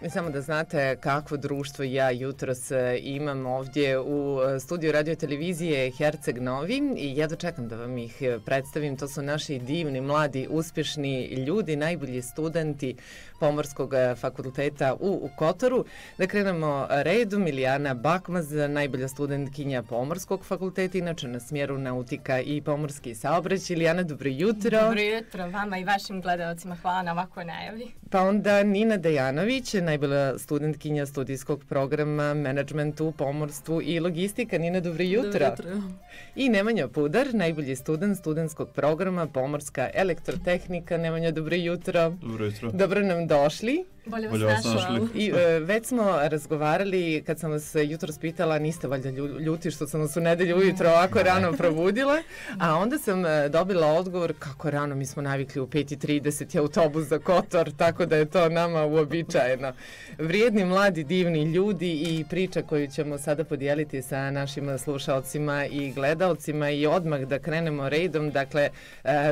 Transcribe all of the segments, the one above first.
Samo da znate kakvo društvo ja jutros imam ovdje u studiju radio televizije Herceg Novi i ja dočekam da vam ih predstavim. To su naši divni, mladi, uspješni ljudi, najbolji studenti Pomorskog fakulteta u Kotoru. Da krenemo redom, Ilijana Bakmaz, najbolja studentkinja Pomorskog fakulteta, inače na smjeru nautika i pomorski saobraćaj. Ilijana, dobro jutro. Dobro jutro vama i vašim gledalcima, hvala na ovakvoj najavi. Pa onda Nina Dejanović, najbolja studentkinja studijskog programa Menadžment u pomorstvu i logistika. Nina, dobro jutro. Dobro jutro. I Nemanja Pudar, najbolji studentskog programa Pomorska elektrotehnika. Nemanja, dobro jutro. Dobro jutro. Dobro nam došli. Bolje vas našli. I već smo razgovarali, kad sam vas jutros pitala, niste valjda ljuti što sam vas u nedelju ujutro ovako rano probudila, a onda sam dobila odgovor kako rano, mi smo navikli u 5:30 je autobus za Kotor, tako da je to nama uobičajeno. Vrijedni, mladi, divni ljudi i priča koju ćemo sada podijeliti sa našim slušalcima i gledalcima i odmah da krenemo redom. Dakle,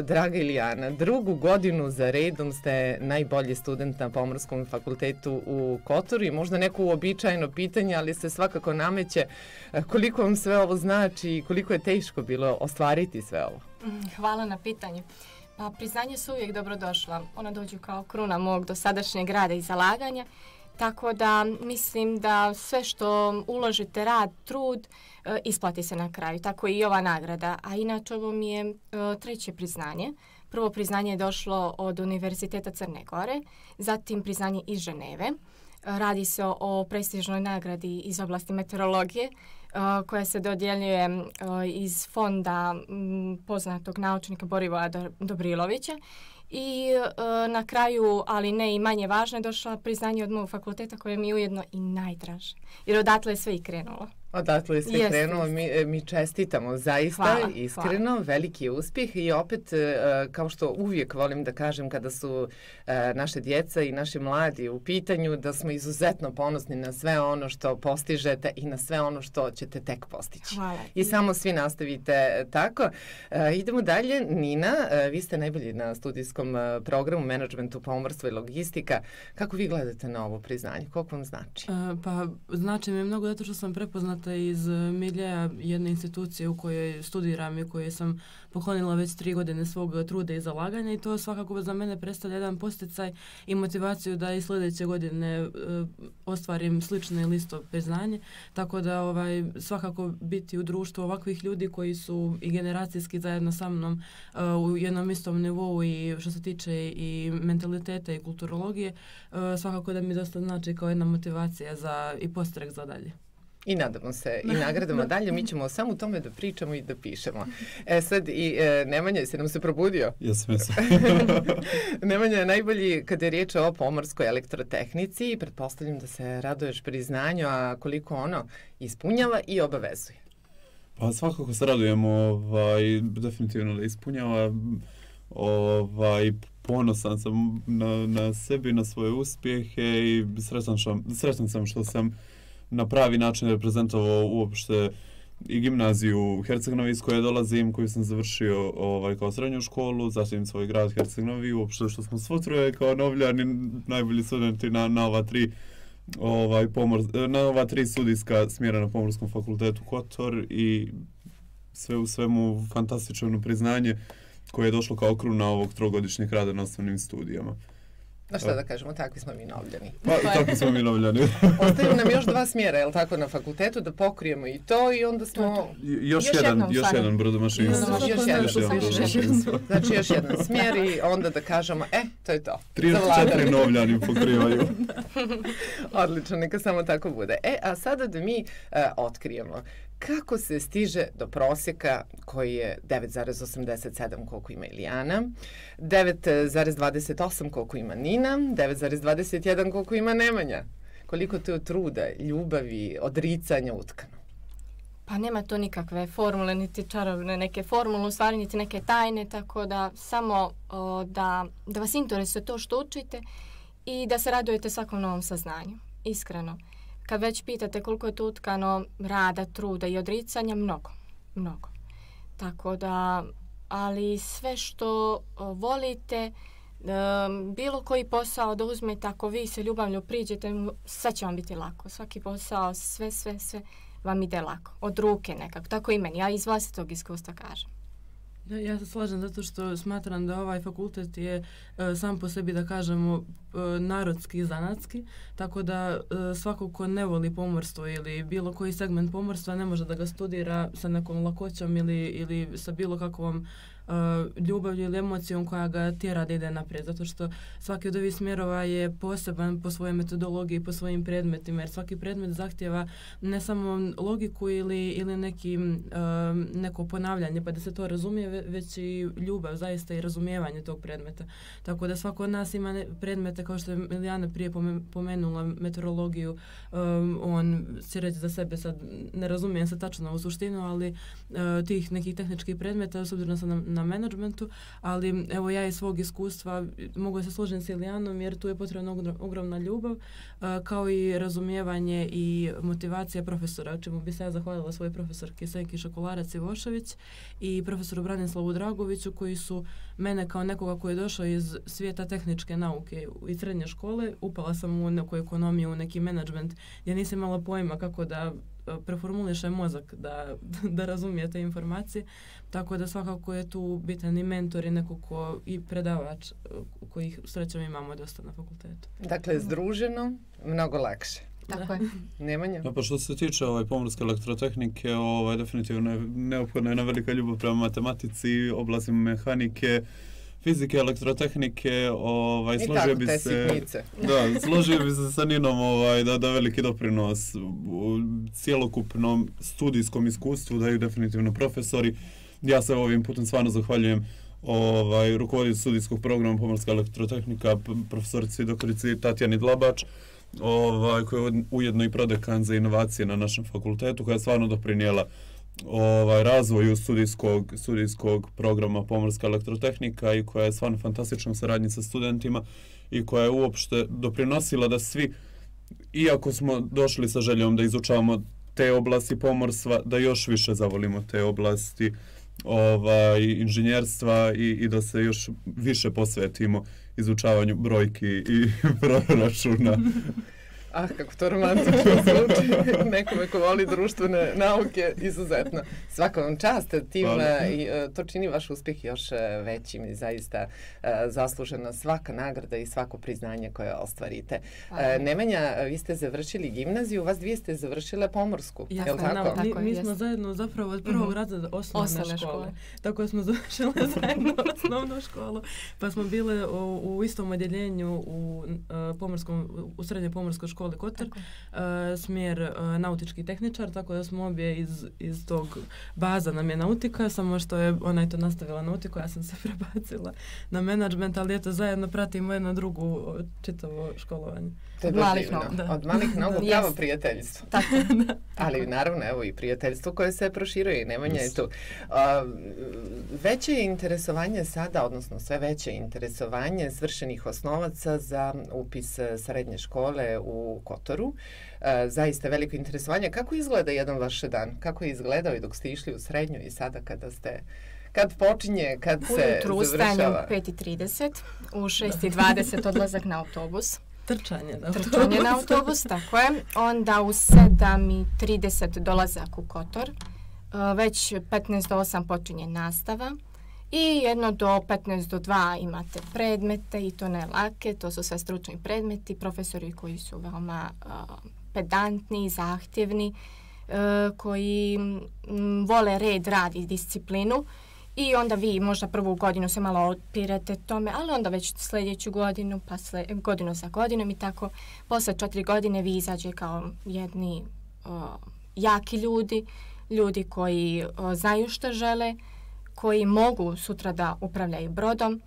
draga Ilijana, 2. godinu za redom ste najbolji student na Pomorskom fakultetu u Kotoru i možda neko uobičajeno pitanje, ali se svakako nameće koliko vam sve ovo znači i koliko je teško bilo ostvariti sve ovo. Hvala na pitanju. Pa priznanje su uvijek dobrodošla. Ona dođu kao kruna mog dosadašnjeg rada i zalaganja, tako da mislim da sve što uložite, rad, trud, isplati se na kraju. Tako i ova nagrada. A inače ovo mi je 3. priznanje. Prvo priznanje je došlo od Univerziteta Crne Gore, zatim priznanje iz Ženeve. Radi se o prestižnoj nagradi iz oblasti meteorologije koja se dodjeljuje iz fonda poznatog naučnika Borivoja Dobrilovića. I na kraju, ali ne i manje važno, je došla priznanje od mog fakulteta koje mi je ujedno i najdraže. Jer odatle je sve i krenulo. Odatle je sve krenulo, mi čestitamo zaista, iskreno, veliki uspjeh i opet, kao što uvijek volim da kažem kada su naše djeca i naši mladi u pitanju, da smo izuzetno ponosni na sve ono što postižete i na sve ono što ćete tek postići. Hvala. I samo svi nastavite tako. Idemo dalje. Nina, vi ste najbolji na studijskom programu Menadžmentu, pomorstva i logistika. Kako vi gledate na ovo priznanje? Koliko vam znači? Pa znači mi mnogo zato što sam prepoznata iz miljeja jedne institucije u kojoj studiram i koje sam poklonila već 3 godine svog truda i zalaganja i to svakako za mene predstavlja jedan posticaj i motivaciju da i sljedeće godine ostvarim slično ili isto priznanje. Tako da svakako biti u društvu ovakvih ljudi koji su i generacijski zajedno sa mnom u jednom istom nivou i što se tiče i mentaliteta i kulturologije, svakako da mi dosta znači kao jedna motivacija za i postrek za dalje. I nadamo se i nagradamo dalje, mi ćemo samo u tome da pričamo i da pišemo. Sad i Nemanja, jesi nam se probudio? Jesam. Nemanja je najbolji kada je riječ o pomorskoj elektrotehnici i pretpostavljam da se raduješ priznanju, a koliko ono ispunjava i obavezuje. Pa svakako se radujemo, definitivno da ispunjava, ponosan sam na sebi, na svoje uspjehe i srećan sam što sam na pravi način reprezentovao uopšte i gimnaziju u Herceg Novi iz koje dolazim, koju sam završio kao srednju školu, zatim svoj grad Herceg Novi, uopšte što smo svo troje kao novljani, najbolji studenti na ova 3 studijska smjera na Pomorskom fakultetu Kotor i sve u svemu fantastično priznanje koje je došlo kao kruna ovog 3-godišnjeg rada na osnovnim studijama. Da šta da kažemo, takvi smo mi novljani. Pa, takvi smo mi novljani. Ostaju nam još 2 smjera, je li tako, na fakultetu, da pokrijemo i to i onda smo... Još jedan brodomašinstvo. Znači još jedan smjer i onda da kažemo, to je to. 3-4 novljani pokrivaju. Odlično, neka samo tako bude. A sada da mi otkrijemo kako se stiže do prosjeka koji je 9,87 koliko ima Ilijana, 9,28 koliko ima Nina, 9,21 koliko ima Nemanja. Koliko to je truda, ljubavi, odricanja utkano? Pa nema to nikakve formule, niti čarobne neke formule, u stvari niti neke tajne, tako da samo da vas interesuje to što učite i da se radujete svakom novom saznanju, iskreno. Kad već pitate koliko je to utkano rada, truda i odricanja, mnogo. Tako da, ali sve što volite, Bilo koji posao da uzmete, ako vi se ljubavlju priđete, sve će vam biti lako. Svaki posao, sve vam ide lako. Od ruke nekako. Tako i meni. Ja iz vlastitog iskustva kažem. Ja se slažem zato što smatram da ovaj fakultet je sam po sebi, da kažemo, narodski i zanatski, tako da svako ko ne voli pomorstvo ili bilo koji segment pomorstva ne može da ga studira sa nekom lakoćom ili sa bilo kakvom ljubavlju ili emocijom koja ga tjera da ide naprijed, zato što svaki od ovih smjerova je poseban po svojoj metodologiji, po svojim predmetima, jer svaki predmet zahtjeva ne samo logiku ili neko ponavljanje pa da se to razumije, već i ljubav zaista i razumijevanje tog predmeta. Tako da svako od nas ima predmete, kao što je Milijana prije pomenula, meteorologiju, on će reći za sebe, sad ne razumijem se tačno u suštinu, ali tih nekih tehničkih predmeta, s obzirom sam na menadžmentu, ali evo ja iz svog iskustva mogu se složiti s Ilijanom jer tu je potrebna ogromna ljubav, kao i razumijevanje i motivacija profesora, čemu bi se ja zahvalila svojoj profesorki Senki Šakolarac-Ivošević i profesoru Branislavu Dragoviću, koji su mene kao nekoga koji je došao iz svijeta tehničke nauke i srednje škole, upala sam u neku ekonomiju, u neki menadžment gdje nisam imala pojma kako da preformuliše mozak da razumije te informacije, tako da svakako je tu bitan i mentor i neko ko i predavač kojih srećom imamo dosta na fakultetu. Dakle, združeno, mnogo lakše. Tako je. Nemanja? Pa što se tiče pomorske elektrotehnike, definitivno je neophodna jedna velika ljubav prema matematici, oblastima mehanike, fizike, elektrotehnike, složio bi se sa Ninom da veliki doprinos u cjelokupnom studijskom iskustvu daju definitivno profesori. Ja se ovim putem stvarno zahvaljujem rukovoditelju studijskog programa pomorska elektrotehnika, profesorici doktorici Tatjani Dlabač, koja je ujedno i prodekan za inovacije na našem fakultetu, koja je stvarno doprinijela razvoju studijskog programa pomorska elektrotehnika i koja je stvarno fantastična u saradnji sa studentima i koja je uopšte doprinosila da svi, iako smo došli sa željom da izučavamo te oblasti pomorstva, da još više zavolimo te oblasti inženjerstva i da se još više posvetimo izučavanju brojki i proračuna. Kako to romantično zvuči. Nekome ko voli društvene nauke, izuzetno. Svaka vam čast, tim, i to čini vaš uspjeh još većim i zaista zaslužena svaka nagrada i svako priznanje koje ostvarite. Nemanja, vi ste završili gimnaziju, vas dvije ste završile pomorsku, je li tako? Mi smo zajedno zapravo od prvog razreda osnovne škole. Tako smo završile zajedno osnovnu školu, pa smo bile u istom odjeljenju u srednjoj pomorskoj školi Kotor, smjer nautički tehničar, tako da smo obje iz tog baza nam je nautika, samo što je ona je to nastavila nautiku, ja sam se prebacila na menadžment, ali eto zajedno pratimo jedno drugo čitavo školovanje. Od malih nogu pravo prijateljstvo. Ali naravno evo i prijateljstvo koje se proširuje i Nemanja je tu. Veće je interesovanje sada, odnosno sve veće interesovanje svršenih osnovaca za upis srednje škole u Kotoru. Zaista veliko interesovanje. Kako izgleda jedan vaš dan? Kako je izgledao i dok ste išli u srednju i sada kad počinje, kad se ujutru završava? Ujutru ustajem u 5:30, u 6:20 odlazak na autobus. Trčanje na autobus, tako je. Onda u 7:30 dolazak u Kotor. Već 15 do 8 počinje nastava. I jedno do 15 do 2 imate predmete i to ne lake, to su sve stručni predmeti, profesori koji su veoma pedantni, zahtjevni, koji vole red, rad i disciplinu. I onda vi možda prvu godinu se malo otpirete tome, ali onda već sljedeću godinu, pa godinu za godinom i tako. Posle 4 godine vi izađe kao jedni jaki ljudi koji znaju što žele, koji mogu sutra da upravljaju brodom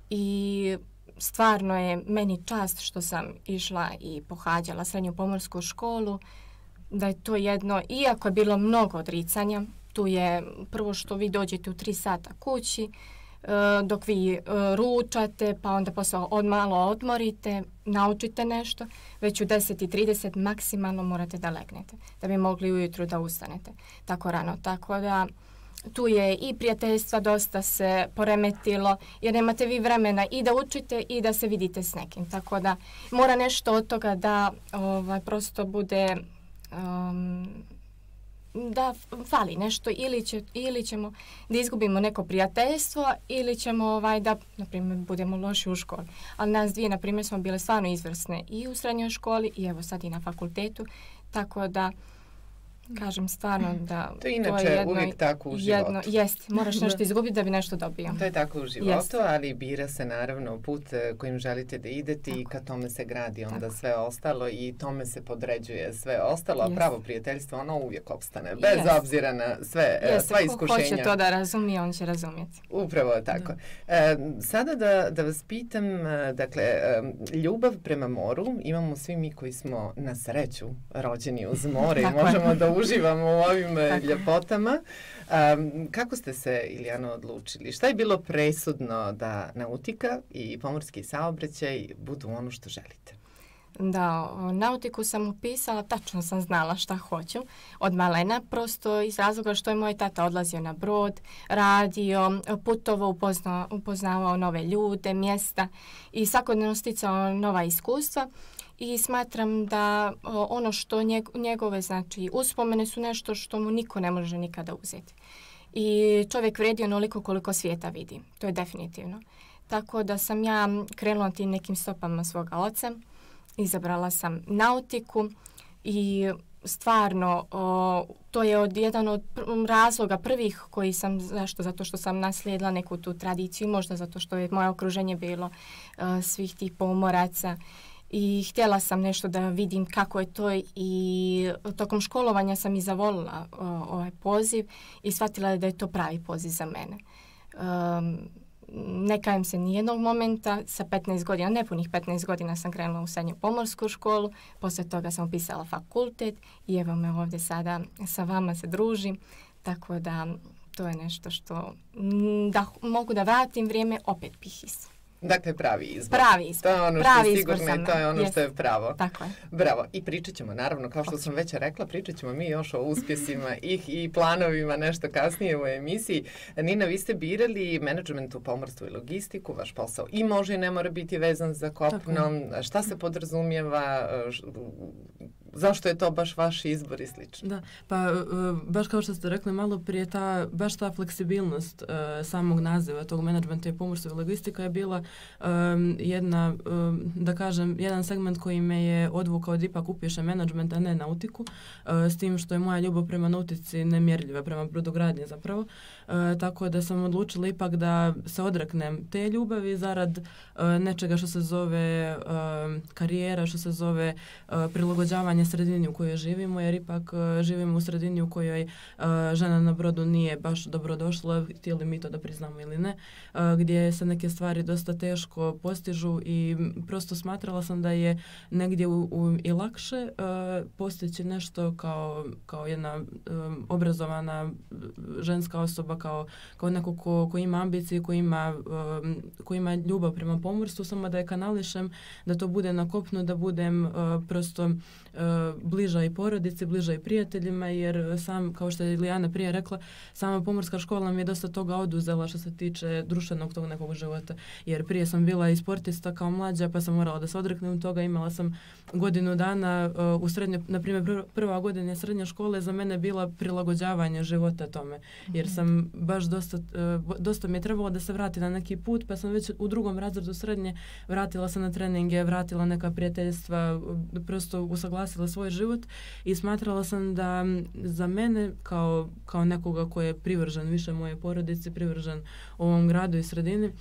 i stvarno je meni čast što sam išla i pohađala srednju pomorsku školu, da je to jedno, iako je bilo mnogo odricanja, tu je prvo što vi dođete u 3 sata kući, dok vi ručate, pa onda posle malo odmorite, naučite nešto, već u 10:30 maksimalno morate da legnete, da bi mogli ujutru da ustanete tako rano. Tako da tu je i prijateljstva dosta se poremetilo, jer nemate vi vremena i da učite i da se vidite s nekim. Tako da mora nešto od toga da prosto bude, da fali nešto, ili ćemo da izgubimo neko prijateljstvo, ili ćemo da, na primjer, budemo loši u školi. Ali nas dvije, na primjer, smo bile stvarno izvrsne i u srednjoj školi i evo sad i na fakultetu, tako da kažem stvarno da to je inače uvijek tako u životu. Jest, moraš nešto izgubiti da bi nešto dobio. To je tako u životu, ali bira se naravno put kojim želite da idete i ka tome se gradi onda sve ostalo i tome se podređuje sve ostalo, a pravo prijateljstvo ono uvijek opstane, bez obzira na sva iskušenja. Ko hoće to da razumije, on će razumjeti. Upravo tako. Sada da vas pitam, dakle, ljubav prema moru imamo svi mi koji smo na sreću rođeni uz more i možemo da uživamo u ovim ljepotama. Kako ste se, Ilijano, odlučili? Šta je bilo presudno da nautika i pomorski saobraćaj budu ono što želite? Da, nautiku sam upisala, tačno sam znala šta hoću od malena, prosto iz razloga što je moj tata odlazio na brod, radio, putovao, upoznavao nove ljude, mjesta i svakodnevno sticao nova iskustva. I smatram da ono što njegove, znači, uspomene su nešto što mu niko ne može nikada uzeti. I čovjek vredi onoliko koliko svijeta vidi. To je definitivno. Tako da sam ja krenula tim nekim stopama svoga oca. Izabrala sam nautiku i stvarno to je jedan od razloga prvih koji sam, zašto? Zato što sam naslijedila neku tu tradiciju, možda zato što je moje okruženje bilo svih tih pomoraca. I htjela sam nešto da vidim kako je to i tokom školovanja sam i zavolila ovaj poziv i shvatila da je to pravi poziv za mene. Ne kajem se nijednog momenta, sa 15 godina, nepunih 15 godina sam krenula u srednju pomorsku školu, poslije toga sam upisala fakultet i evo me ovdje sada sa vama se družim, tako da to je nešto što da mogu da vratim vrijeme, opet bih Dakle, pravi izbor. Pravi izbor. To je ono što je sigurno i to je ono što je pravo. Tako je. Bravo. I pričat ćemo, naravno, kao što sam već rekla, pričat ćemo mi još o uspjesima i planovima nešto kasnije u emisiji. Nina, vi ste birali menadžment u pomorstvu i logistiku, vaš posao i može i ne mora biti vezan za kopno. Šta se podrazumijeva, zašto je to baš vaš izbor i slično? Da, pa baš kao što ste rekli malo prije, baš ta fleksibilnost samog naziva tog menadžmenta i pomorstva i logistika je bila jedna, da kažem, jedan segment koji me je odvukao da ipak upišem menadžment, a ne nautiku, s tim što je moja ljubav prema nautici nemjerljiva, prema brodogradnji zapravo. Tako da sam odlučila ipak da se odreknem te ljubavi zarad nečega što se zove karijera, što se zove prilagođavanje sredini u kojoj živimo, jer ipak živimo u sredini u kojoj žena na brodu nije baš dobrodošla, htjeli mi to da priznamo ili ne, gdje se neke stvari dosta teško postižu i prosto smatrala sam da je negdje i lakše postići nešto kao jedna obrazovana ženska osoba, kao neko ko ima ambicije, ko ima ljubav prema pomorstvu, samo da je kanališem, da to bude na kopnu, da budem prosto bliža i porodici, bliža i prijateljima, jer sam, kao što je Ilijana prije rekla, sama pomorska škola mi je dosta toga oduzela što se tiče društvenog tog nekog života, jer prije sam bila i sportista kao mlađa, pa sam morala da se odreknem toga, imala sam godinu dana u srednje, na primjer prva godina srednje škole za mene bila prilagođavanje života tome, jer sam baš dosta mi je trebalo da se vrati na neki put, pa sam već u drugom razredu srednje vratila se na treninge, vratila neka prijateljstva, prosto usaglasila svoj život i smatrala sam da za mene kao nekoga ko je privržen više moje porodici, privržen ovom gradu i sredini,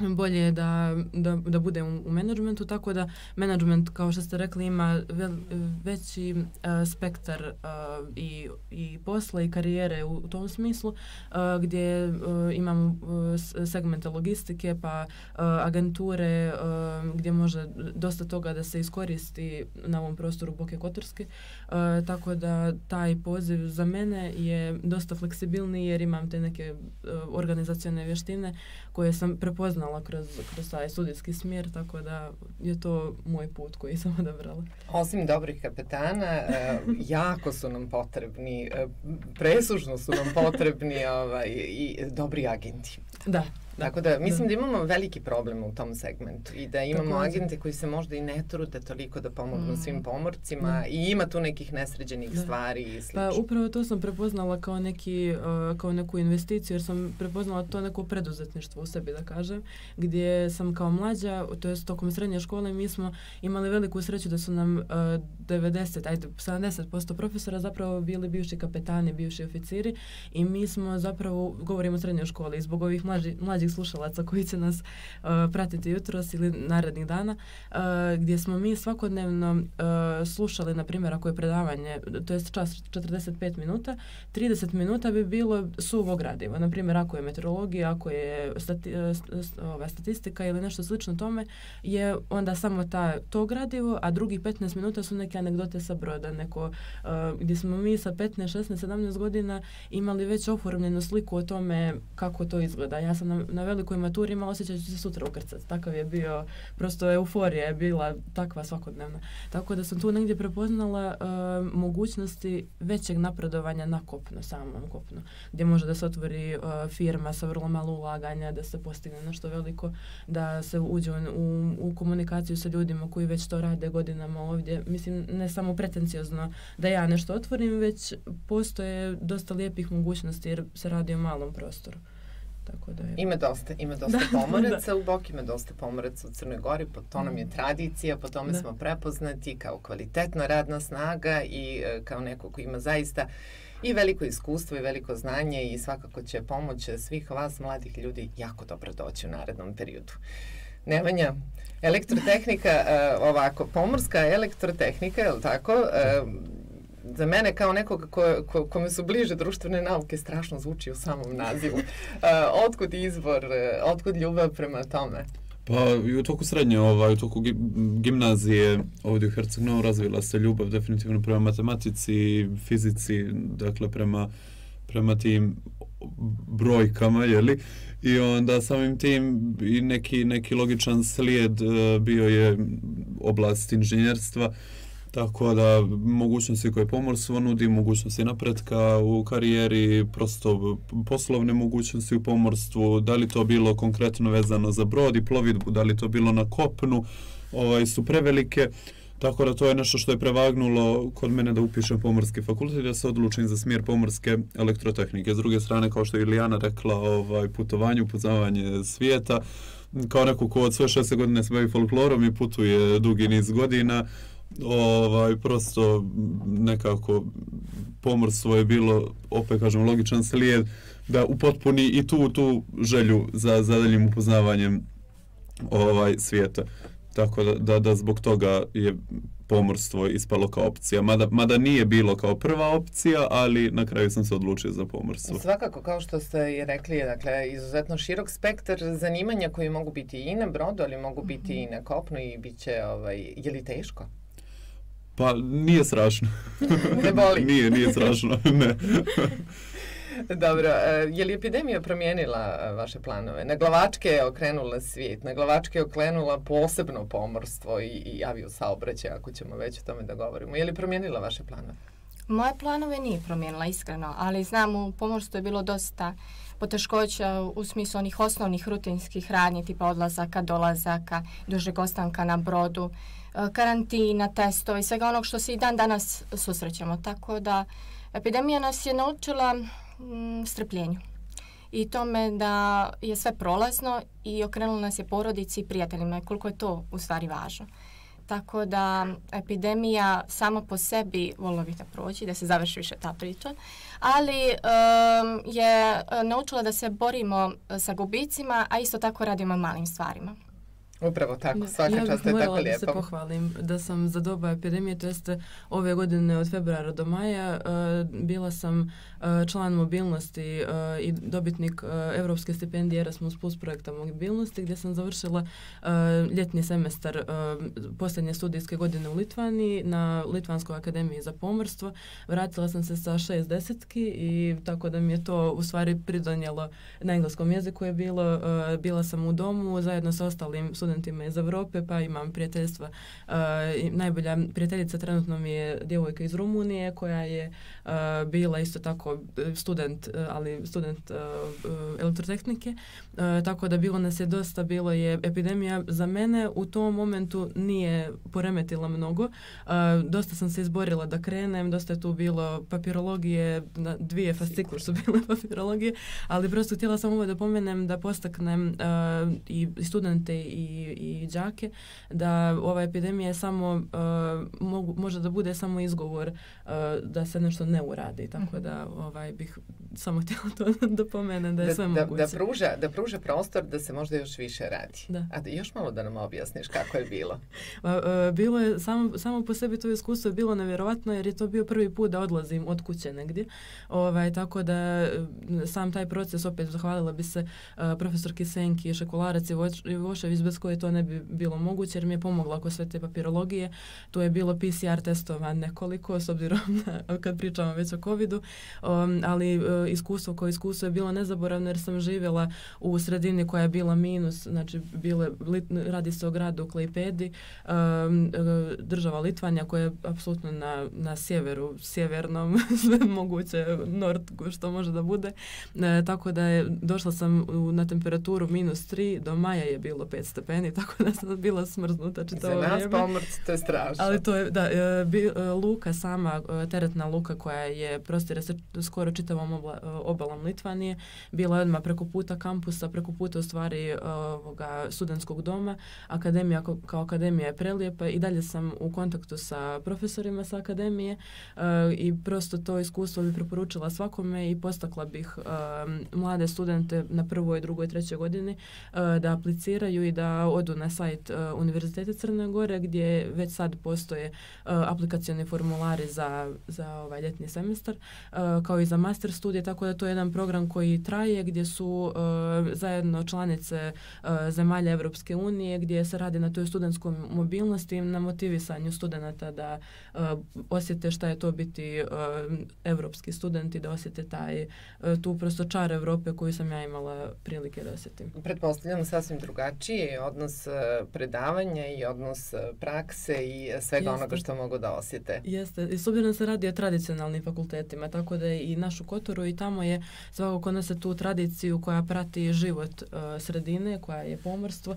bolje je da bude u menadžmentu, tako da menadžment, kao što ste rekli, ima veći spektar i posla i karijere u tom smislu, gdje imamo segmente logistike, pa agenture, gdje može dosta toga da se iskoristi na ovom prostoru Boke Kotorske, tako da taj poziv za mene je dosta fleksibilniji jer imam te neke organizacione vještine koje sam prepoznala prepoznala kroz taj studijski smjer, tako da je to moj put koji sam odabrala. Osim dobrih kapetana, jako su nam potrebni, presušno su nam potrebni i dobri agenti. Da. Tako da, mislim da imamo veliki problem u tom segmentu i da imamo agente koji se možda i ne trude toliko da pomognu svim pomorcima i ima tu nekih nesređenih stvari i slično. Pa upravo to sam prepoznala kao neku investiciju, jer sam prepoznala to neko preduzetništvo u sebi, da kažem, gdje sam kao mlađa, to jest tokom srednje škole, mi smo imali veliku sreću da su nam 70% profesora zapravo bili bivši kapetani, bivši oficiri i mi smo zapravo, govorimo o srednjoj školi, zbog ovih mlađih slušalaca koji će nas pratiti jutros ili narednih dana, gdje smo mi svakodnevno slušali, na primjer, ako je predavanje, to je čas 45 minuta, 30 minuta bi bilo suvo gradivo. Na primjer, ako je meteorologija, ako je statistika ili nešto slično tome, je onda samo to gradivo, a drugih 15 minuta su neke anegdote sa broda, gdje smo mi sa 15, 16, 17 godina imali već oformljenu sliku o tome kako to izgleda. Ja sam na velikoj maturi imala osjećaj da ću se sutra ukrcati. Takav je bio, prosto euforija je bila takva svakodnevna. Tako da sam tu negdje prepoznala mogućnosti većeg napredovanja na kopno, samom kopnu, gdje može da se otvori firma sa vrlo malo ulaganja, da se postigne nešto veliko, da se uđe u komunikaciju sa ljudima koji već to rade godinama ovdje. Mislim, ne samo pretenciozno da ja nešto otvorim, već postoje dosta lijepih mogućnosti jer se radi o malom prostoru. Tako da je... Ima dosta pomoraca u Boki, ima dosta pomoraca u Crnoj Gori, po to nam je tradicija, po tome smo prepoznati kao kvalitetna radna snaga i kao neko ko ima zaista i veliko iskustvo i veliko znanje i svakako će pomoć svih vas mladih ljudi jako dobro doći u narednom periodu. Nemanja, elektrotehnika, pomorska elektrotehnika, je li tako? Za mene kao nekoga kome su bliže društvene nauke strašno zvuči u samom nazivu. Otkud izvor, otkud ljubav prema tome? Pa i u toku srednje, u toku gimnazije ovdje u Herceg-Novom razvila se ljubav definitivno prema matematici, fizici, dakle prema tim brojkama, jeli? I onda samim tim i neki logičan slijed bio je oblast inženjerstva. Tako da mogućnosti koje pomorstvo nudi, mogućnosti napretka u karijeri, prosto poslovne mogućnosti u pomorstvu, da li to bilo konkretno vezano za brod i plovidbu, da li to bilo na kopnu, su prevelike. Tako da to je nešto što je prevagnulo kod mene da upišem pomorski fakultet i da se odlučim za smjer pomorske elektrotehnike. S druge strane, kao što je Ilijana rekla, putovanje, upoznavanje svijeta, kao neko ko od sve 6 godine se bavi folklorom i putuje dugi niz godina, prosto nekako pomorstvo je bilo, opet kažem, logičan slijed da upotpuni i tu želju za daljim upoznavanjem svijeta. Tako da zbog toga je pomorstvo ispalo kao opcija. Mada nije bilo kao prva opcija, ali na kraju sam se odlučio za pomorstvo. Svakako, kao što ste i rekli, dakle, izuzetno širok spektar zanimanja koji mogu biti i na brodu, ali mogu biti i na kopnu i bit će, je li teško? Pa nije strašno. Ne boli? Nije strašno, ne. Dobro, je li epidemija promijenila vaše planove? Na glavačke je okrenula svijet, na glavačke je okrenula posebno pomorstvo i aviosaobraćaj, ako ćemo već o tome da govorimo. Je li promijenila vaše planove? Moje planove nije promijenila, iskreno, ali znam u pomorstvu je bilo dosta poteškoća u smislu onih osnovnih rutinskih radnji, tipa odlazaka, dolazaka, dužeg ostanka na brodu, karantina, testovi, svega onog što se i dan danas susrećemo. Tako da epidemija nas je naučila strpljenju i tome da je sve prolazno i okrenula nas je porodici i prijateljima, koliko je to u stvari važno. Tako da epidemija sama po sebi volila bih da proći, da se završi više ta priča, ali je naučila da se borimo sa gubicima, a isto tako radimo malim stvarima. Upravo tako, svaka čast, to je tako lijepo. Ja bih morala da se pohvalim da sam za doba epidemije, to jest ove godine od februara do maja, bila sam član mobilnosti i dobitnik Evropske stipendije Erasmus Plus projekta mobilnosti, gdje sam završila ljetni semestar posljednje studijske godine u Litvaniji na Litvanskoj akademiji za pomorstvo. Vratila sam se sa 6 desetki i tako da mi je to u stvari pridonijelo. Na engleskom jeziku je bilo, bila sam u domu zajedno sa ostalim studentima iz Europe, pa imam prijateljstva. Najbolja prijateljica trenutno mi je djevojka iz Rumunije koja je bila isto tako student, ali student elektrotehnike, tako da bilo nas je dosta, bilo je epidemija za mene u tom momentu nije poremetila mnogo. Dosta sam se izborila da krenem, dosta je tu bilo papirologije, 2 fascikle su bile papirologije, ali prosto htjela sam ovo da pomenem, da postaknem i studente i đake da ova epidemija je samo može da bude samo izgovor da se nešto ne uradi, tako da bih samo htjela to da pomenem da je sve moguće. Da pruža prostor da se možda još više radi. Da. A još malo da nam objasniš kako je bilo. Bilo je, samo po sebi to iskustvo je bilo nevjerovatno jer je to bio prvi put da odlazim od kuće negdje. Tako da sam taj proces, opet zahvalila bi se profesorki Senki, Šekularac i Vošević, bez koje to ne bi bilo moguće jer mi je pomogla oko sve te papirologije. Tu je bilo PCR testova nekoliko, s obzirom na, kad pričamo već o covidu, ali iskustvo koje iskustvo je bilo nezaboravno jer sam živjela u sredini koja je bila minus, znači radi se o gradu Klaipedi, država Litvanija koja je apsolutno na sjeveru, sjevernom, sve moguće, nord što može da bude, tako da je došla sam na temperaturu -3, do maja je bilo 5 stepeni, tako da sam bila smrznuta čitavo vrijeme. Za nas pomorci to je strašno. Ali to je, da, luka sama, teretna luka koja je prostire se skoro čitavom obalom Litvanije, bila je odmah preko puta kampusa, preko puta u stvari studentskog doma. Akademija kao akademija je prelijepa i dalje sam u kontaktu sa profesorima sa akademije i prosto to iskustvo bi preporučila svakome i postakla bih mlade studente na 1., 2., 3. godini da apliciraju i da odu na sajt Univerziteta Crne Gore gdje već sad postoje aplikacioni formulari za ovaj ljetni semestar kao i za master studije, tako da to je jedan program koji traje gdje su zajedno članice zemalja Evropske unije gdje se radi na toj studentskoj mobilnosti, na motivisanju studenata da osjete šta je to biti evropski student i da osjete tu prosto čar Evrope koju sam ja imala prilike da osjetim. Pretpostavljam sasvim drugačiji odnos predavanja i odnos prakse i svega onoga što mogu da osjete. Jeste, i s obzirom se radi o tradicionalnim fakultetima, tako da je i naš u Kotoru i tamo je svakako nose tu tradiciju koja prati život sredine, koja je pomorstvo,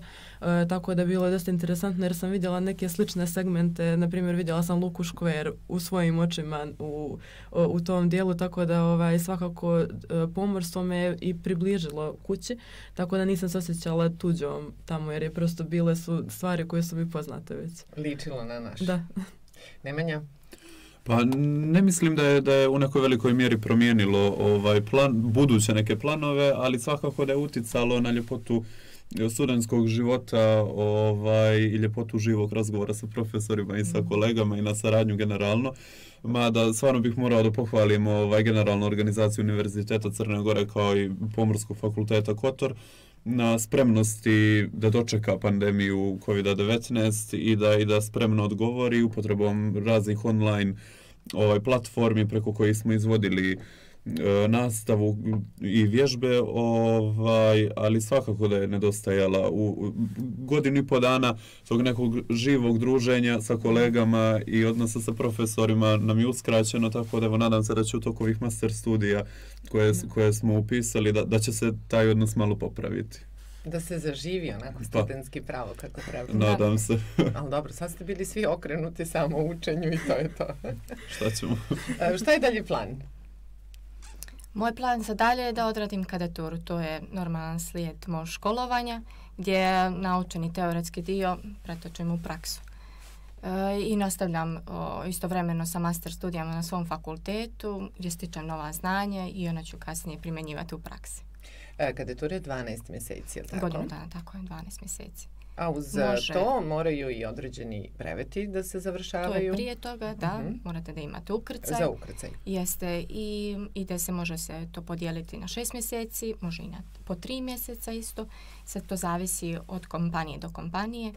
tako da bilo je dosta interesantno jer sam vidjela neke slične segmente, na primjer vidjela sam luku Škver u svojim očima u tom dijelu, tako da svakako pomorstvo me i približilo kući, tako da nisam se osjećala tuđom tamo jer je prosto bile su stvari koje su mi poznate već. Ličilo na naš. Da. Nemanja? Pa ne mislim da je u nekoj velikoj mjeri promijenilo buduće neke planove, ali svakako da je uticalo na ljepotu studentskog života i ljepotu živog razgovora sa profesorima i sa kolegama i na saradnju generalno. Mada stvarno bih morao da pohvalim generalnu organizaciju Univerziteta Crne Gore kao i Pomorskog fakulteta Kotor na spremnosti da dočeka pandemiju COVID-19 i da spremno odgovori upotrebom raznih online platformi preko kojih smo izvodili nastavu i vježbe, ali svakako da je nedostajala u 1.5 godina tog nekog živog druženja sa kolegama i odnosa sa profesorima nam je uskraćeno, tako da nadam se da će u toku ovih master studija koje smo upisali da će se taj odnos malo popraviti. Da se zaživi onako studentski pravo kako treba. Nadam se. Ali dobro, sad ste bili svi okrenuti samo učenju i to je to. Šta ćemo? Šta je dalje plan? Moj plan za dalje je da odradim kadeturu. To je normalan slijed mog školovanja gdje naučeni teoretski dio pretočim u praksu. I nastavljam istovremeno sa master studijama na svom fakultetu gdje stičem nova znanja i ona ću kasnije primjenjivati u praksi. Kadetura je 12 mjeseci, je li tako? Godinu dana, tako je, 12 mjeseci. A uz to moraju i određeni breveti da se završavaju? To je prije toga, da. Morate da imate ukrcaj. Za ukrcaj. Jeste i da se može se to podijeliti na 6 mjeseci, može i po 3 mjeseca isto. Sad to zavisi od kompanije do kompanije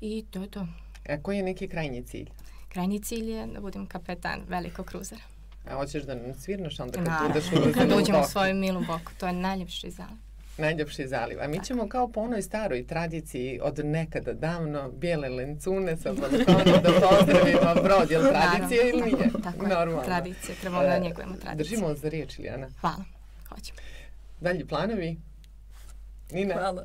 i to je to. A koji je neki krajnji cilj? Krajnji cilj je da budem kapetan velikog kruzera. A hoćeš da nam svirnaš onda kad budeš kad uđemo u svoju milu boku. To je najljepši zaliv. Najljepši zaliv. A mi ćemo kao po onoj staroj tradiciji od nekada davno bijele lencune sa balkona da pozdravimo Brod. Je li tradicija ili nije? Tako je. Tradicija. Trebamo da njegujemo tradiciju. Držimo za riječ, Ilijana. Hvala. Hoćemo. Dalji planovi? Nina? Hvala.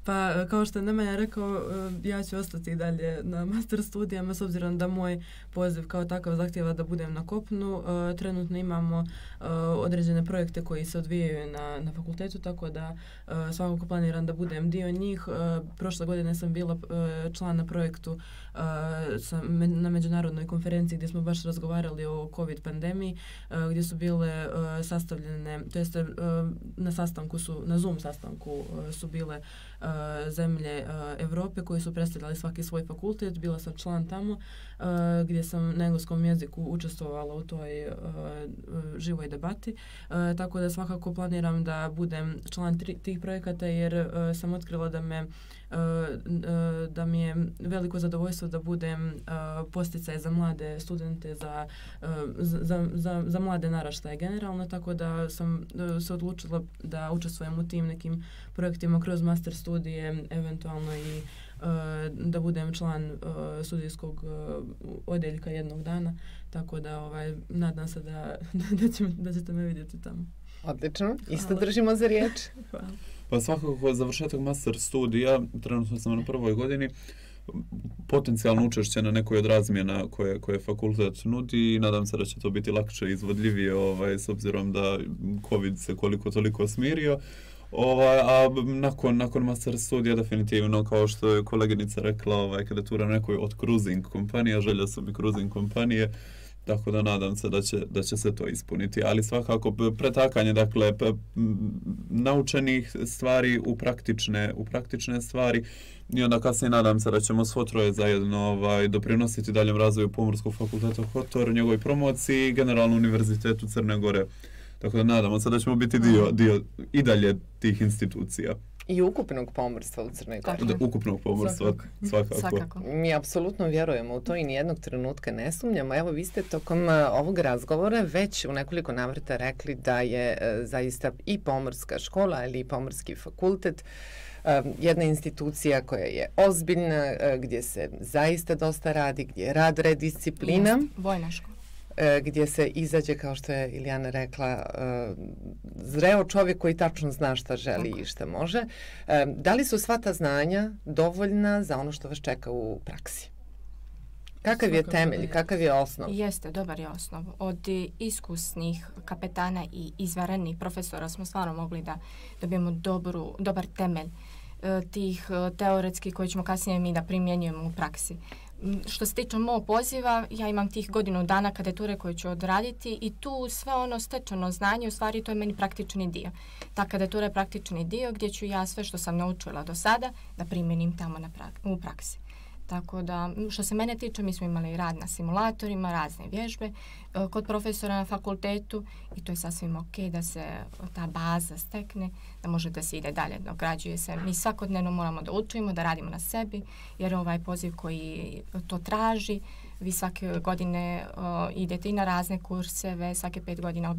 Pa kao što je Nemanja rekao, ja ću ostati dalje na master studijama s obzirom da moj poziv kao takav zahtjeva da budem na kopnu. Trenutno imamo određene projekte koji se odvijaju na fakultetu, tako da svakako planiram da budem dio njih. Prošle godine sam bila član na projektu na međunarodnoj konferenciji gdje smo baš razgovarali o COVID pandemiji, gdje su bile sastavljene, to jest na Zoom sastanku su bile zemlje Europe koji su predstavljali svaki svoj fakultet. Bila sam član tamo gdje sam na engleskom jeziku učestvovala u toj živoj debati. Tako da svakako planiram da budem član tih projekata jer sam otkrila da mi je veliko zadovoljstvo da budem posticaj za mlade studente, za mlade naraštaje generalno, tako da sam se odlučila da učestvujem u tim nekim projektima kroz master studije, eventualno i da budem član studijskog odjeljka jednog dana, tako da nadam se da ćete me vidjeti tamo. Odlično, isto držimo za riječ. Hvala. Pa svakako završetak master studija, trenutno sam na prvoj godini, potencijalno učešće na nekoj od razmjena koje fakultet nudi i nadam se da će to biti lakše i izvodljivije s obzirom da COVID se koliko toliko smirio. A nakon master studija definitivno, kao što je koleginica rekla, kandidatura nekoj od cruising kompanija, želja su mi cruising kompanije, tako da nadam se da će se to ispuniti. Ali svakako pretakanje naučenih stvari u praktične stvari i onda kasnije nadam se da ćemo svo troje zajedno doprinositi daljem razvoju Pomorskog fakulteta Kotor, njegovoj promociji i generalno Univerzitetu Crne Gore. Tako da nadamo se da ćemo biti dio i dalje tih institucija. I ukupnog pomorstva u Crnoj Gori. Ukupnog pomorstva, svakako. Mi apsolutno vjerujemo u to i nijednog trenutka ne sumnjamo. Evo, vi ste tokom ovog razgovora već u nekoliko navrata rekli da je zaista i pomorska škola ili i pomorski fakultet jedna institucija koja je ozbiljna, gdje se zaista dosta radi, gdje je rad redisciplina. Vojna škola. Gdje se izađe, kao što je Ilijana rekla, zreo čovjek koji tačno zna šta želi i šta može. Da li su sva ta znanja dovoljna za ono što vas čeka u praksi? Kakav je temelj, kakav je osnov? Jeste, dobar je osnov. Od iskusnih kapetana i izvanrednih profesora smo stvarno mogli da dobijemo dobar temelj tih teoretskih koje ćemo kasnije mi da primjenjujemo u praksi. Što se tiče mog poziva, ja imam tih godinu dana kandidature koju ću odraditi i tu sve ono stečeno znanje, u stvari to je meni praktični dio. Ta kandidatura je praktični dio gdje ću ja sve što sam naučila do sada da primjenim tamo u praksi. Tako da, što se mene tiče, mi smo imali rad na simulatorima, razne vježbe kod profesora na fakultetu i to je sasvim ok da se ta baza stekne, da može da se ide dalje, dograđuje se. Mi svakodnevno moramo da učimo, da radimo na sebi, jer ovaj poziv koji to traži, vi svake godine idete i na razne kurseve, svake 5 godina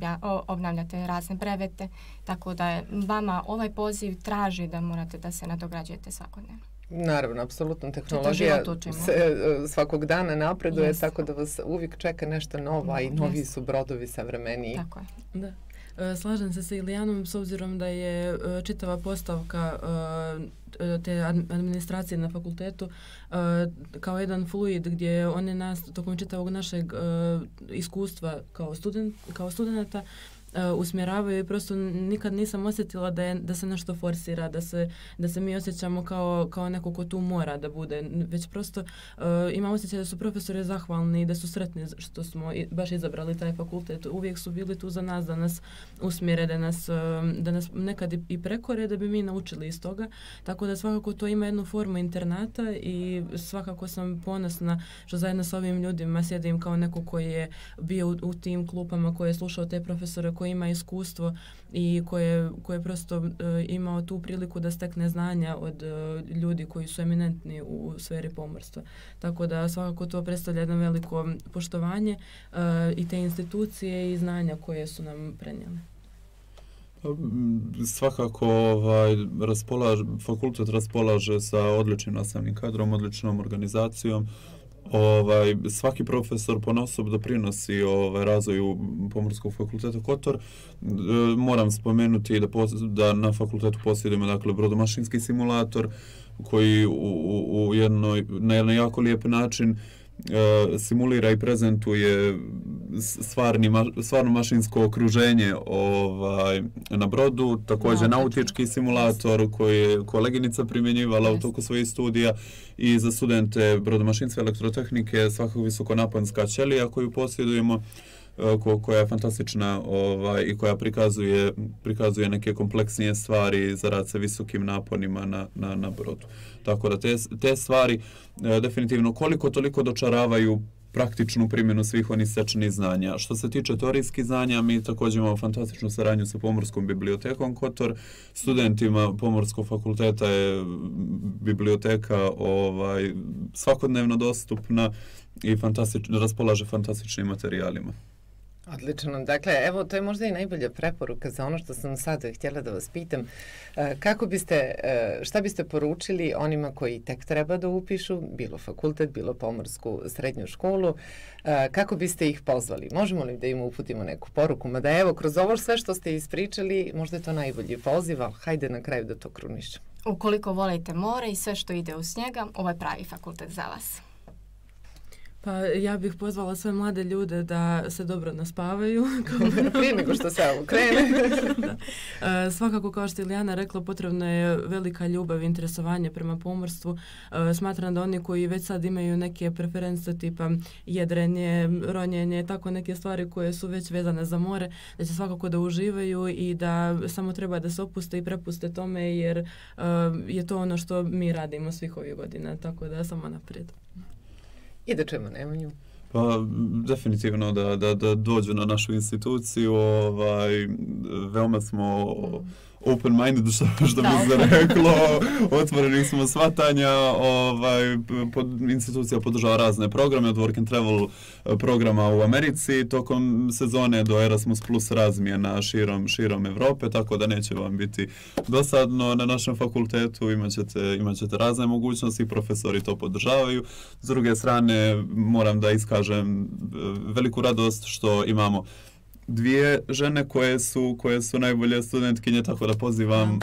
obnavljate razne brevete, tako da vama ovaj poziv traži da morate da se nadograđujete svakodnevno. Naravno, apsolutno tehnologija se svakog dana napreduje, tako da vas uvijek čeka nešto novo, i novi su brodovi savremeniji. Tako je. Da. Slažem se sa Ilijanom s obzirom da je čitava postavka te administracije na fakultetu kao jedan fluid gdje one nas tokom čitavog našeg iskustva kao studenta usmjeravaju i prosto nikad nisam osjetila da se nešto forsira, da se mi osjećamo kao neko ko tu mora da bude, već prosto imam osjećaj da su profesori zahvalni i da su sretni što smo baš izabrali taj fakultet. Uvijek su bili tu za nas, da nas usmjere, da nas nekad i prekore, da bi mi naučili iz toga. Tako da svakako to ima jednu formu internata i svakako sam ponosna što zajedno s ovim ljudima sjedim kao neko koji je bio u tim klupama, koji je slušao te profesore, koji ima iskustvo i koji je prosto imao tu priliku da stekne znanja od ljudi koji su eminentni u sferi pomorstva. Tako da svakako to predstavlja jedno veliko poštovanje i te institucije i znanja koje su nam prenijele. Svakako fakultet raspolaže sa odličnim nastavnim kadrom, odličnom organizacijom. Svaki profesor ponaosob doprinosi razvoju Pomorskog fakulteta Kotor. Moram spomenuti da na fakultetu posjedujemo dakle brodomašinski simulator koji na jedan jako lijep način simulira i prezentuje stvarno mašinsko okruženje na brodu, također nautički simulator koji je koleginica primjenjivala u toku svojih studija i za studente brodomašinske elektrotehnike svakako visokonaponska ćelija koju posjedujemo, koja je fantastična i koja prikazuje neke kompleksnije stvari za rad sa visokim naponima na brodu. Tako da te stvari definitivno koliko toliko dočaravaju praktičnu primjenu svih onih stečenih znanja. Što se tiče teorijskih znanja, mi također imamo fantastičnu saradnju sa Pomorskom bibliotekom Kotor. Studentima Pomorskog fakulteta je biblioteka svakodnevno dostupna i raspolaže fantastičnim materijalima. Odlično. Dakle, evo, to je možda i najbolja preporuka za ono što sam sad htjela da vas pitam. Šta biste poručili onima koji tek treba da upišu, bilo fakultet, bilo pomorsku srednju školu, kako biste ih pozvali? Možemo li da im uputimo neku poruku? Mada evo, kroz ovo sve što ste ispričali, možda je to najbolji poziv, ali hajde na kraju da to krunišćemo. Ukoliko volite more i sve što ide uz njega, ovo je pravi fakultet za vas. Pa ja bih pozvala sve mlade ljude da se dobro naspavaju. Prije nego što se ovo krene. Svakako, kao što je Ilijana rekla, potrebna je velika ljubav i interesovanje prema pomorstvu. Smatram da oni koji već sad imaju neke preference tipa jedrenje, ronjenje, tako neke stvari koje su već vezane za more, da će svakako da uživaju i da samo treba da se opuste i prepuste tome jer je to ono što mi radimo svih ovih godina. Tako da samo naprijed. I da čujemo Nemanju. Pa definitivno da dođu na našu instituciju, veoma smo open-minded, što bi se reklo, otvoreni smo shvatanja, institucija podržava razne programe, od Work and Travel programa u Americi, tokom sezone do Erasmus Plus razmjena širom Evrope, tako da neće vam biti dosadno na našem fakultetu, imat ćete razne mogućnosti, profesori to podržavaju. S druge strane, moram da iskažem veliku radost što imamo dvije žene koje su najbolje studentkinje, tako da pozivam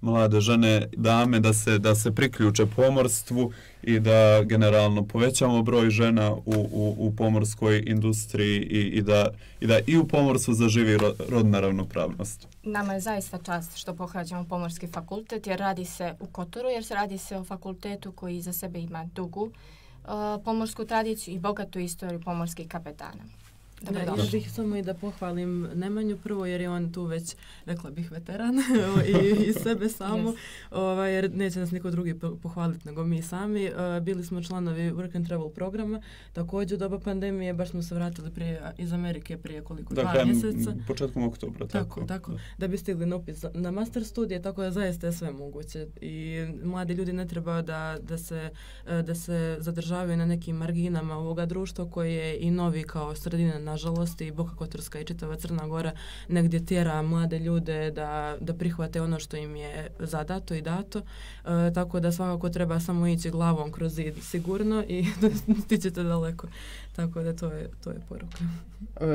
mlade žene, dame da se priključe pomorstvu i da generalno povećamo broj žena u pomorskoj industriji i da i u pomorstvu zaživi rodna ravnopravnost. Nama je zaista čast što pohađamo Pomorski fakultet jer radi se u Kotoru, jer se radi se o fakultetu koji za sebe ima dugu pomorsku tradiciju i bogatu istoriju pomorskih kapetana. Ja bih samo i da pohvalim Nemanju prvo jer je on tu već, rekla bih, veteran i sebe samo, jer neće nas niko drugi pohvaliti nego mi sami. Bili smo članovi Work and Travel programa, također u doba pandemije, baš smo se vratili iz Amerike prije koliko, 2 mjeseca. Početkom oktobra. Tako, da bi stigli na upis na master studije, tako da zaista je sve moguće. I mladi ljudi ne treba da se zadržavaju na nekim marginama ovoga društva koje je i novi kao sredina, nažalost, i Boka Kotorska i čitava Crna Gora negdje tjera mlade ljude da prihvate ono što im je zadato i dato. Tako da svakako treba samo ići glavom kroz zid sigurno i stićete daleko. Tako da to je poruka.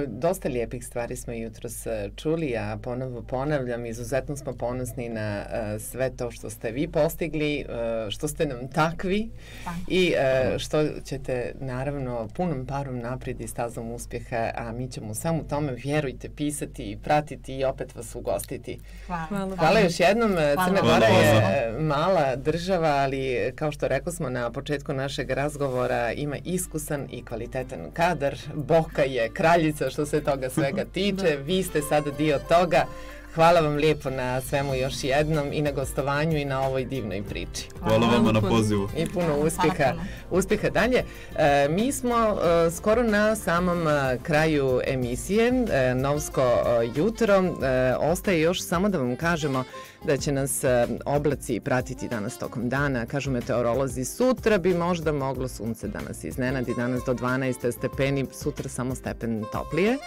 Dosta lijepih stvari smo jutros čuli, a ponovo ponavljam, izuzetno smo ponosni na sve to što ste vi postigli, što ste nam takvi i što ćete naravno punom parom naprijed i stazom uspjeha a mi ćemo samo tome, vjerujte, pisati i pratiti i opet vas ugostiti. Hvala još jednom. Crna Gora Hvala. je mala država, ali kao što rekao smo na početku našeg razgovora, ima iskusan i kvalitetan kadar. Boka je kraljica što se toga svega tiče. Vi ste sada dio toga. Hvala vam lijepo na svemu još jednom i na gostovanju i na ovoj divnoj priči. Hvala vama na pozivu. I puno uspjeha dalje. Mi smo skoro na samom kraju emisije Novsko jutro. Ostaje još samo da vam kažemo da će nas oblaci pratiti danas tokom dana. Kažu meteorolozi, sutra bi možda moglo sunce da nas iznenadi, danas do 12 stepeni, sutra samo stepen toplije.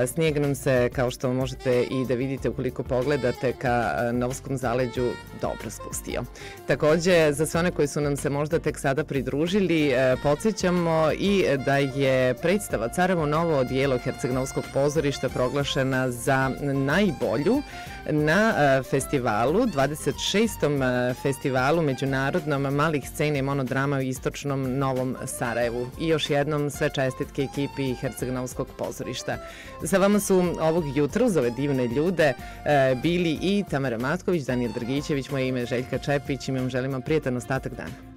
Snijeg nam se, kao što možete i da vidite ukoliko pogledate ka Novskom zaleđu, dobro spustio. Također, za sve one koji su nam se možda tek sada pridružili, podsjećamo i da je predstava Carevo novo odijelo Herceg-Novskog pozorišta proglašena za najbolju na festivalu, 26. festivalu međunarodnom malih scena i monodrama u istočnom Novom Sarajevu. I još jednom sve čestitke ekipi Herceg-Novskog pozorišta. Sa vama su ovog jutra uz ove divne ljude bili i Tamara Matković, Danijel Drgićević, moje ime je Željka Čepić i mi vam želimo prijetan ostatak dana.